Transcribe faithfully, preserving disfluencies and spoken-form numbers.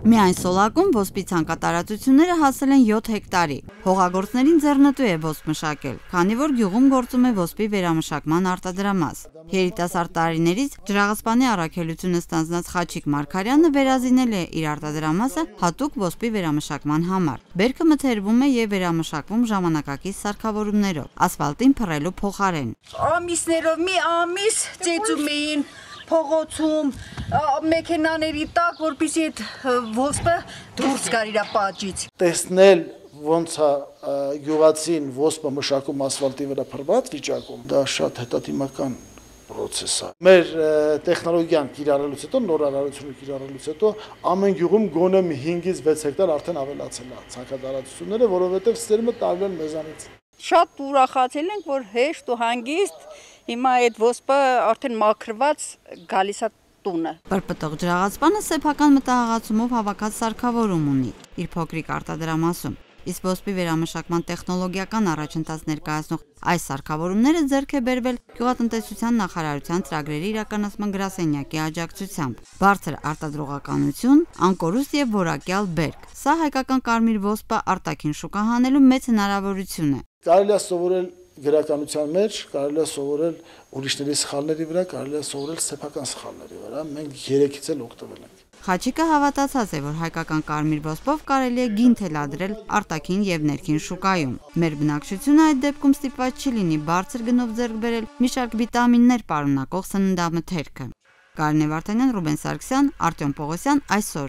Միայն Սոլակում ոսպի ցանկատարածությունները հասել են յոթ հեկտարի։ Հողագործներին ձեռնտու է ոսպ մշակել, քանի որ գյուղում գործում է ոսպի վերամշակման արտադրամաս։ Երիտասարդ տարիներից Ջրաղացպանի առաքելությունը ստանձնած Խաչիկ Մարգարյանը վերազինել է իր արտադրամասը հատուկ ոսպի վերամշակման համար։ Բերքը մթերվում է եւ վերամշակվում ժամանակակից սարքավորումներով, ասֆալտին փռելու փոխարեն։ Ամիսներով մի ամիս ծեծում էին փողոցում մեքենաների տակ, որպեսզի այդ ոսպը դուրս գար իր պատճից։ Տեսնել ոնց է գյուղացին ոսպը մշակում ասֆալտի վրա փռված վիճակում, դա շատ հետադիմական process է։ Մեր տեխնոլոգիան կիրառելուց հետո, նոր արարությունը կիրառելուց հետո ամեն գյուղում գոնե հինգից վեց հեկտար արդեն ավելացել է ցանկատարածությունները, որովհետև սերմը տարվել մեզանից։ Շատ ուրախացել ենք, որ հեշտ ու հանգիստ հիմա այդ ոսպը արդեն մաքրված գալիս է տունը։ Պրպտող Ջրաղացպանը սեփական մտահղացումով հավաքած սարքավորում ունի իր փոքրիկ արտադրամասում, իսկ ոսպի վերամշակման տեխնոլոգիական առաջընթաց ներկայացնող այս սարքավորումները ձեռք է բերվել Գյուղատնտեսության նախարարության ծրագրերի իրականացման գրասենյակի աջակցությամբ։ Բարձր արտադրողականություն, անկորուստ եւ որակյալ բերք։ Սա հայկական կարմիր ոսպը արտաքին շուկա հանելու մեծ հնարավորություն է։ Կարելի է սովորել գրականության մեջ, կարելի է սովորել ուրիշների սխալների վրա, կարելի է սովորել սեփական սխալների վրա, մենք երեքից էլ օգտվել ենք։ Խաչիկը հավատացած է, որ հայկական կարմիր ոսպով կարելի է գին թելադրել արտաքին եւ ներքին շուկայում։ Մեր բնակչությունը այդ դեպքում ստիպված չի լինի բարձր գնով ձեռք բերել մի շարք վիտամիններ պարունակող սննդամթերքը։ Կարինե Վարդանյան, Ռուբեն Սարգսյան, Արտյոմ Պողոսյան, այսօր։